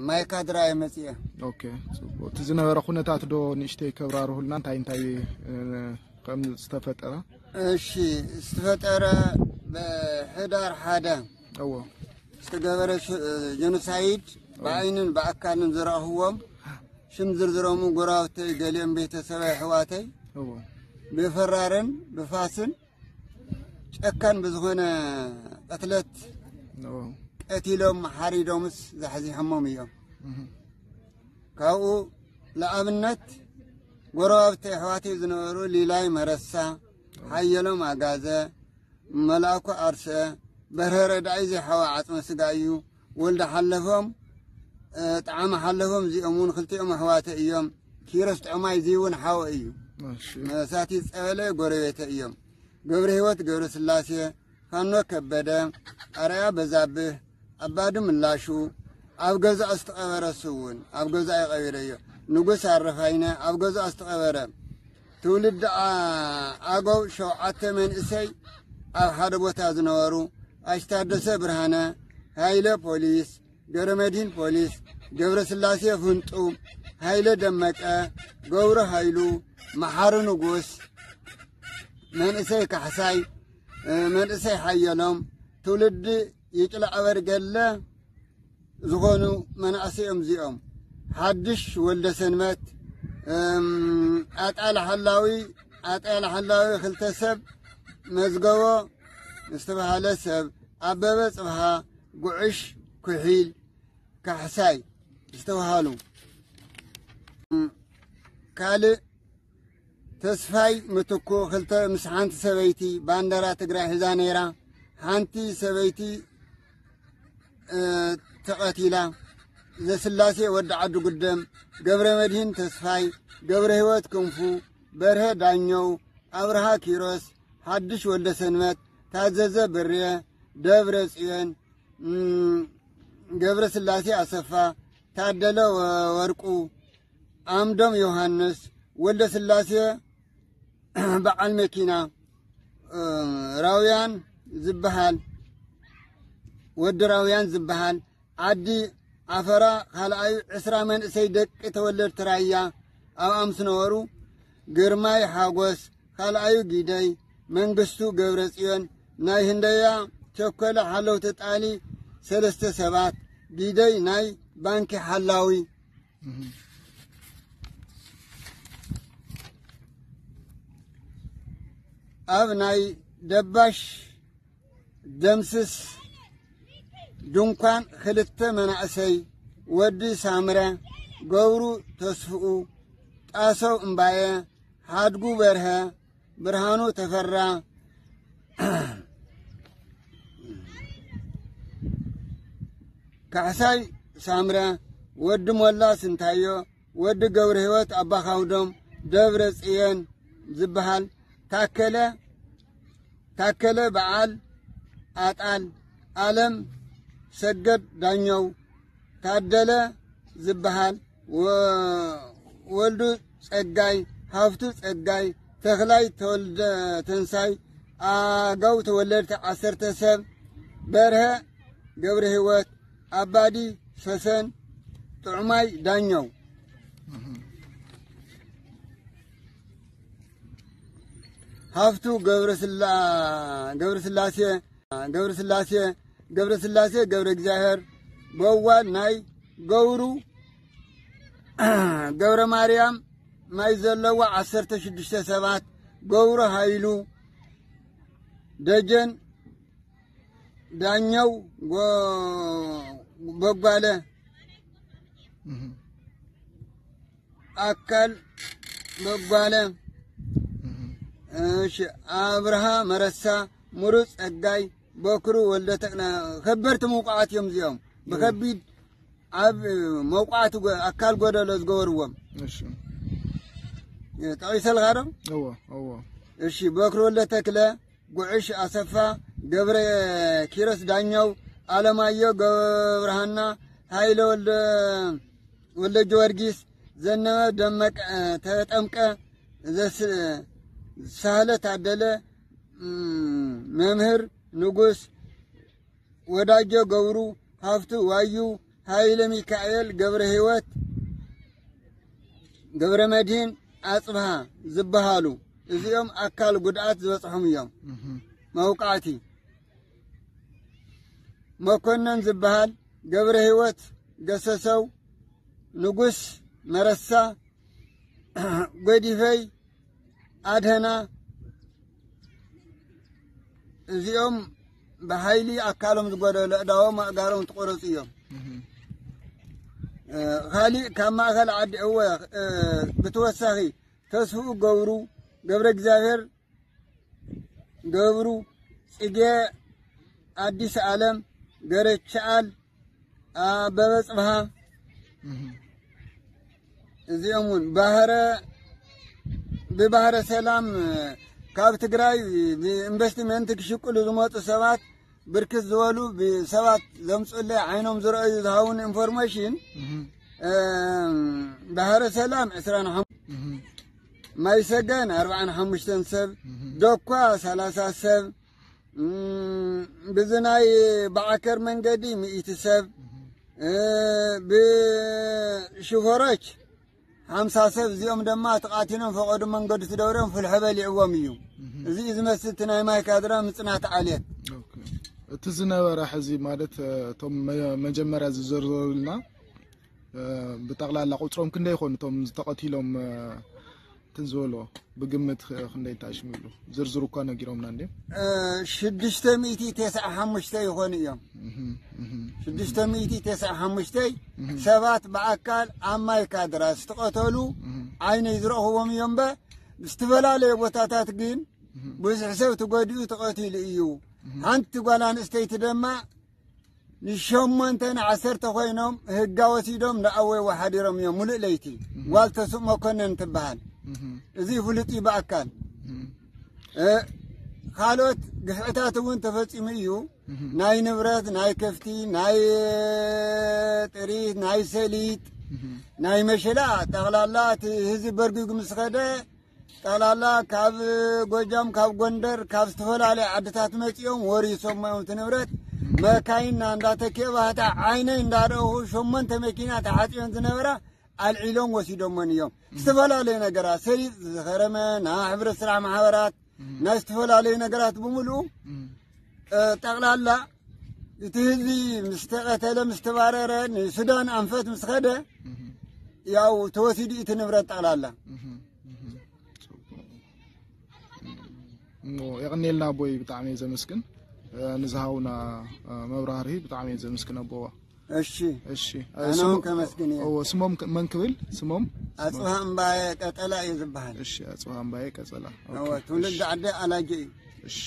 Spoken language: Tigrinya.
ማይካድራ እየ መፅየ። ኦኬ፣ ፅቡቅ። እቲ ዝነበረ ኩነታት ዶ ንእሽተይ ከብራርሁልና፣ እንታይ እንታይ ከም ዝተፈጠረ? እሺ፣ ዝተፈጠረ ብሕዳር ሓደ እዎ። ዝተገበረ ጀኖሳይድ ብዓይንን ብኣካልን ዝረእኽዎም፣ ሽም ዝርዝሮም ጎረባብተይ፣ ገሊኦም ቤተሰብ ኣሕዋተይ እዎ። ብፈራርን ብፋስን ጨካን ብዝኾነ ቅትለት እዎ። ቀቲሎም ሓሪዶምስ ዛሕዚሖሞም እዮም። ካብኡ ለኣብነት ጎረባብቲ ኣሕዋተይ ዝነበሩ ሊላይ መረሳ፣ ሓየሎም ኣጋዘ፣ መልኣኩ ኣርሰ፣ በርሀ ረዳኢ ዘይሓወ ዓጽመ ስጋ እዩ። ወልደ ሓለፎም፣ ጣዕመ ሓለፎም እዚኦም እውን ክልቲኦም ኣሕዋተ እዮም። ኪሮስ ጥዑማይ እዚ እውን ሓወ እዩ። እሺ። መሳቲ ጸበለ ጎረቤተ እዮም። ገብረ ህይወት ገብረ ስላሴ፣ ፋኖ ከበደ፣ ኣርኣያ በዛብህ፣ ኣባዲ ምላሹ፣ ኣብ ገዛኡ ዝተቐበረ እሱ እውን ኣብ ገዛኡ ቀቢረዮ። ንጉስ ኣረፋይነ ኣብ ገዛኡ ዝተቐበረ። ትውልዲ ኣገው ሸውዓተ መንእሰይ ኣብ ሓደ ቦታ ዝነበሩ፣ ኣሽታደሰ ብርሃነ፣ ሃይለ ፖሊስ፣ ገብረ መድህን ፖሊስ፣ ገብረ ስላሴ ፍንጡ፣ ሃይለ ደመቀ፣ ገብሩ ሃይሉ፣ መሓሪ ንጉስ፣ መንእሰይ ካሕሳይ፣ መንእሰይ ሓየሎም፣ ትውልዲ ይጭላ ኣበርገለ ዝኾኑ መናእሰይ እዮም እዚኦም። ሓድሽ ወልደ ሰንበት፣ ኣጣል ሓላዊ፣ ኣጣል ሓላዊ ክልተ ሰብ፣ መዝገቦ ዝተባሃለ ሰብ፣ ኣበበ ጽብሃ፣ ጉዕሽ ኩሒል፣ ካሕሳይ ዝተባሃሉ። ካልእ ተስፋይ ምትኩ ክልተ ምስ ሓንቲ ሰበይቲ ባንደራ ትግራይ ሒዛ ነይራ። ሓንቲ ሰበይቲ ተቐቲላ። ዘስላሴ ወዲ ዓዲ ጉደም፣ ገብረ መድህን ተስፋይ፣ ገብረ ህይወት ክንፉ፣ በርሀ ዳኘው፣ ኣብርሃ ኪሮስ፣ ሓድሽ ወልደ ሰንበት፣ ታዘዘ ብርየ፣ ደብረ ጽዮን፣ ገብረ ስላሴ ኣሰፋ፣ ታደለ ወርቁ፣ ኣምዶም ዮሃንስ፣ ወልደ ስላሴ በዓል መኪና፣ ራውያን ዝበሃል፣ ወዲ ራውያን ዝበሃል፣ ዓዲ ዓፈራ ካልኣዩ ዕስራ መንእሰይ ደቂ ተወለድቲ ራያ ኣብኣ ምስ ነበሩ፣ ግርማይ ሓጎስ ካልኣዩ፣ ጊደይ መንግስቱ፣ ገብረ ጽዮን፣ ናይ ህንደያ ቸኮለ ሓለውቲ ጣሊ ሰለስተ ሰባት፣ ጊደይ ናይ ባንኪ ሓላዊ። ኣብ ናይ ደባሽ ደምስስ ድንኳን ክልተ መናእሰይ፣ ወዲ ሳምረ፣ ገብሩ ተስፍኡ፣ ጣሰው እምባየ፣ ሓድጉ በርሀ፣ ብርሃኑ ተፈራ፣ ካሕሳይ ሳምረ፣ ወዲ ሞላ ስንታዮ፣ ወዲ ገብረ ህይወት ኣባኻውዶም፣ ደብረ ጽየን ዝበሃል፣ ታከለ ታከለ በዓል ኣጣል፣ ኣለም ሰገድ ዳኘው፣ ታደለ ዝበሃል፣ ወ- ወልዱ ጸጋይ፣ ሃፍቱ ጸጋይ፣ ተኽላይ ተወልደ ተንሳይ፣ ኣገው ተወለድቲ ዓሰርተ ሰብ፣ በርሀ ገብረ ህይወት፣ ኣባዲ ሰሰን፣ ጥዑማይ ዳኘው፣ ሃፍቱ ገብረስላ- ገብረስላሴ ገብረስላሴ ገብረስላሴ ገብረ እግዚኣብሔር፣ በዋል ናይ ገብሩ ገብረ ማርያም ማይ ዘለዋ ዓሰርተ ሽዱሽተ ሰባት፣ ገብሩ ሃይሉ፣ ደጀን ዳኘው፣ ጎ- በጓለ፣ ኣካል በጓለ፣ እሺ፣ ኣብርሃ መረሳ፣ ምሩፅ ጸጋይ፣ በክሩ ወልደ ተክለ፣ ከበድቲ ምውቃዓት እዮም እዚኦም። ብከቢድ ኣብ መውቃዕቲ ጎ- ኣካል ጎደሎ ዝገበርዎም እሺ። ጠቒሰልካ ዶ? እዎ፣ እዎ። እሺ፣ በክሩ ወልደ ተክለ፣ ጉዕሽ ኣሰፋ፣ ገብረ ኪሮስ ዳኘው፣ ኣለማዮ ገብረሃና፣ ሃይለ ወልደ ወልደ ጊዮርጊስ፣ ዘነበ ደመቀ፣ ተጠምቀ፣ ዘስ- ሳህለ ታደለ፣ እም፣ መምህር ንጉስ፣ ወዳጆ ገብሩ፣ ሃፍቱ ዋዩ፣ ሃይለ ሚካኤል ገብረ ህይወት፣ ገብረ መድህን ኣጽብሃ ዝበሃሉ፣ እዚኦም ኣካል ጉድኣት ዝበጽሖም እዮም። መውቃዕቲ መኮነን ዝበሃል፣ ገብረ ህይወት ገሰሰው፣ ንጉስ መረሳ፣ ጎዲፈይ ኣድህና፣ እዚኦም ብሓይሊ ኣካሎም ዝጎደሉ፣ ኣእዳዎም ኣእጋሮም ትቆረጹ እዮም። እ፣ ካሊእ ካብ ማእከል ዓዲ፣ እወ፣ እ፣ ብተወሳኺ ተስፍኡ ገብሩ፣ ገብረ እግዚኣብሔር ገብሩ፣ ጽጌ ኣዲስ ኣለም፣ ገረቻኣል፣ ኣበበ ጽብሃ፣ እዚኦም እውን ባህረ፣ ብባህረ ሰላም ካብ ትግራይ ብኢንቨስትመንት ክሽቅሉ ዝመፁ ሰባት፣ ብርክት ዝበሉ ብሰባት ዘምፅኡለይ ዓይኖም ዝረኣዩ ዝሃውን ኢንፎርሜሽን፣ እም፣ ባህረ ሰላም ዕስራን ሓሙሽተን፣ ማይ ሰገን ኣርባዓን ሓሙሽተን ሰብ፣ ዶኳ ሰላሳ ሰብ፣ እም፣ ብዚ ናይ ብዓከር መንገዲ ሚእቲ ሰብ፣ እ፣ ብሽፈሮች ሓምሳ ሰብ፣ እዚኦም ድማ ተቓቲሎም ፈቐዱ መንገዲ ትደውርዮም ፍልሖ በሊዕዎም እዩ። እዚ እዩ ዝመስል እቲ ናይ ማይ ካድራ ምጽናት ዓሌት። ኦኬ። እቲ ዝነበረ ሕዚ ማለት፣ እ፣ እቶም መ-፣ መጀመርያ ዝዘርዘሩልና፣ እ፣ ብጠቕላላ ቁጽሮም ክንደይ ይኾኑ እቶም ዝተቐቲሎም፣ እ፣ እንትን ዝበሎ ብግምት ክ-፣ ክንደይ እንተኣሽሙ ይብሉ? ዝርዝሩ እኳ ነጊሮምና እንዴ? እ፣ ሽዱሽተ ሚእቲ ተስዓ ሓሙሽተ ይኾኑ እዮም። እህ፣ እህ። ሽዱሽተ ሚእቲ ተስዓ ሓሙሽተ እህ። ሰባት ብኣካል ኣብ ማይ ካድራ ዝተቐተሉ እህ። ዓይነይ ዝረእኽዎም እዮም። እምበር ብዝተፈላለየ ቦታታት ግን እህ። ብዙሕ ሰብ ተጎዲኡ ተቐቲሉ እዩ። እህ። ሓንቲ ጓል ኣንስተይቲ ድማ ንሸሞንተ ንዓሰርተ ኮይኖም ህጋ ወሲዶም ንኣወይ ወሓዲሮም እዮም። ሙሉእ ለይቲ እህ። ጓል ተስእ መኮነን ትበሃል። እህ። እዚ ፍሉጥ እዩ ብኣካል። እህ። እ፣ ካልኦት ግፍዕታት እውን ተፈጺሙ እዩ። እህ። ናይ ንብረት፣ ናይ ከፍቲ፣ ናይ ጥሪት፣ ናይ ሰሊጥ፣ እህ። ናይ መሸላ፣ ጠቕላላ እቲ ህዝቢ በርጊጉ ምስ ኸደ፣ ጠቕላላ ካብ ጎጃም፣ ካብ ጎንደር፣ ካብ ዝተፈላለያ ዓድታት መጺኦም ወሪሶም እዮም እቲ ንብረት። መካይና እንዳተኬባ፣ እታ ዓይነይ እንዳረእኹ፣ ሸሞንተ መኪና ተዓጽዮን ዝነበራ ኣልዒሎም ወሲዶመን እዮም። እም። ዝተፈላለዩ ነገራት፣ ሰሊጥ ዝኸረመ፣ ናይ ሕብረት ስራሕ ማሕበራት፣ እም። ናይ ዝተፈላለዩ ነገራት ብምሉኡ፣ እም። እ፣ ጠቕላላ እቲ ህዝቢ ምስ ተቐተለ፣ ምስ ተባረረ፣ ንሱዳን ኣንፈት ምስ ኸደ፣ እም። ያው ተወሲዱ እቲ ንብረት ጠቕላላ። እም፣ እም። ጽቡቕ። እሞ የቐንየልና ኣቦይ፣ ብጣዕሚ እየ ዘመስግን፣ እ፣ ንዝሃውና፣ እ፣ መብራህርሂ ብጣዕሚ እየ ዘመስግን ኣቦዋ። እሺ። እሺ። ኣነ ስሙ-፣ እውን ከመስግን እየ። እዎ፣ ስሞም ከ-፣ መን ክብል? ስሞም? ኣጽብሃ እምባየ ቀጸላ እዩ ዝበሃል። እሺ፣ ኣጽብሃ እምባየ ቀጸላ። እዎ፣ ኦኬ፣ ትውልዲ እሺ። ዓዲ ኣላጀ እዩ። እሺ።